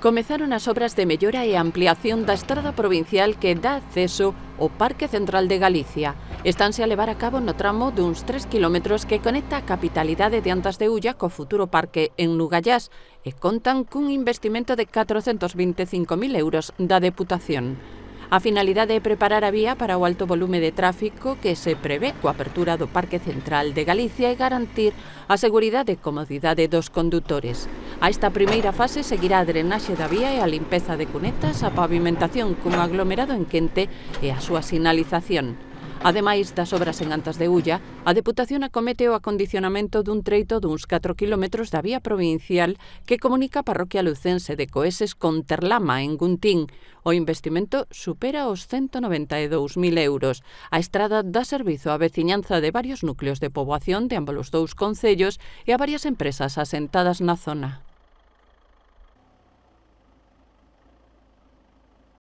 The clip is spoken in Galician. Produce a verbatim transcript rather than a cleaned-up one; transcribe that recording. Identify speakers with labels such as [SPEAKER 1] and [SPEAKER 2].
[SPEAKER 1] Comezaron as obras de mellora e ampliación da estrada provincial que dá acceso ao Parque Central de Galicia. Estánse a levar a cabo no tramo duns tres quilómetros que conecta a capitalidade de Antas de Ulla co futuro parque en Nugallás e contan cun investimento de catrocentos vinte e cinco mil euros da Deputación. A finalidade é preparar a vía para o alto volume de tráfico que se prevé coa apertura do Parque Central de Galicia e garantir a seguridade e comodidade dos condutores. A esta primeira fase seguirá a drenaxe da vía e a limpeza de cunetas, a pavimentación cun aglomerado en quente e a súa sinalización. Ademais das obras en Antas de Ulla, a Deputación acomete o acondicionamento dun treito duns catro quilómetros da vía provincial que comunica a parroquia lucense de Coeses con Terlama, en Guntín. O investimento supera os ciento noventa e dous mil euros. A estrada dá servizo á veciñanza de varios núcleos de poboación de ambos os dous concellos e a varias empresas asentadas na zona.